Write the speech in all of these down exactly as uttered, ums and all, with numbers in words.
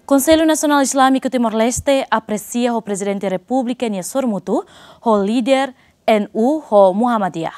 Konsellu Nasionál Izlámiku Timor-Leste apresia ho Prezidente Repúblika nia sorumutu ho líder N U ho Muhammadiyah.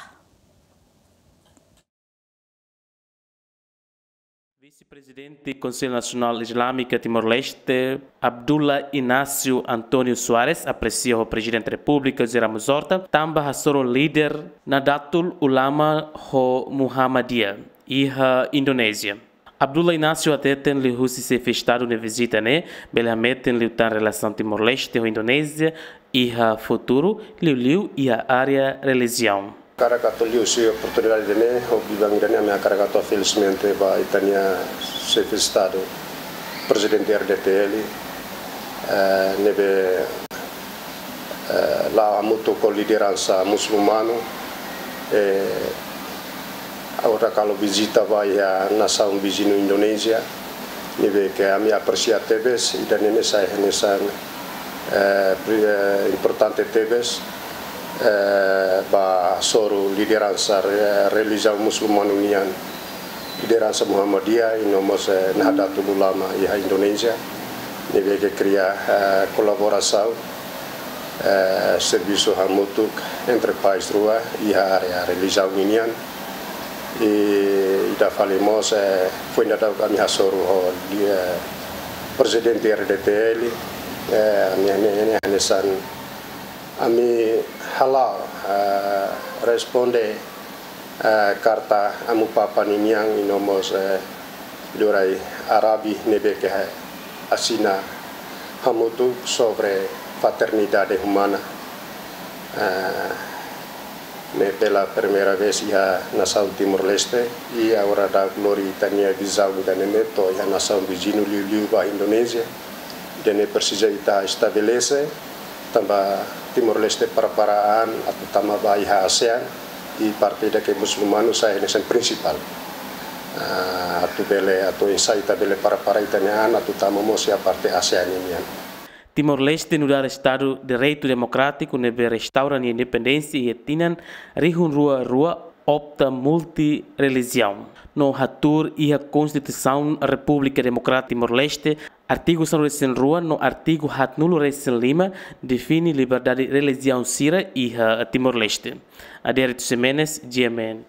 Vise-Prezidente Konsellu Nasionál Izlámiku Timor-Leste, Abdullah Inácio António Soares, apresia ho Prezidente Repúblika José Ramos Horta, tanba hasoru líder Nahdlatul Ulama ho Muhammadiyah iha Indonézia. Abdullah Inácio hateten liuhusi Xefe Estadu nia vizita ne'e, bele hametin liután relasaun Timor-Leste ho Indonézia iha futuru, liuliu iha área relijiaun. Hakarak atu liuhusi oportunidade ne'e, ho biban ida-ne'e ami hakarak atu felismente ba ita-nia Xefe Estadu, Prezidente R D T L, eh, ne'ebé eh, la'o hamutuk ho lideransa musulmanu, eh, agora halo vizita ba iha nasaun viziñu Indonézia, ne'ebé ke ami apresia tebes, ida-ne'e sai hanesan, eh, pri-, eh, importante tebes, eh, ba hasoru lideransa re-, relijiaun musulmanu nian, lideransa Muhammadiyah, i no mós, eh, Nahdlatul Ulama iha Indonézia, ne'ebé ke kria, eh, kolaborasaun, eh, servisu hamutuk entre país rua iha área relijiaun nian. I ida fali mós, eh, foin daudauk ami hasoru ho, eh, Prezidente R D T L, eh, ami, ami, ami hanesan ami hala'o, eh, responde, eh, karta Amu Papa ninian i no mós, eh, Liurai Arabi ne'ebé ke asina hamutuk sobre fraternidade umana. Eh, ne'e pela primeira vez iha nasaun Timor-Leste, i agora daudauk lori ita-nia vizaun ida-ne'e to'o iha nasaun viziñu liuliu ba Indonézia. Ida-ne'e presiza ita estabelese, tanba Timor-Leste prepara an atu tama ba iha ASEAN, i parte ida ke musulmanu sai hanesan prinsipál. Ah, atu bele, atu oinsá ita bele prepara ita-nia an atu tama mós iha parte ASEAN nian. Timor-Leste nu'udar Estadu direitu demokrátiku ne'ebé restaura nia independénsia iha tinan rihun rua rua, opta multirrelijiaun. No hatuur iha Konstituisaun Repúblika Demokrátika Timor-Leste, artigu sanulu-resin-rua no artigu haatnulu-resin-lima define liberdade relijiaun sira iha Timor-Leste. Adérito Ximenes, G M N.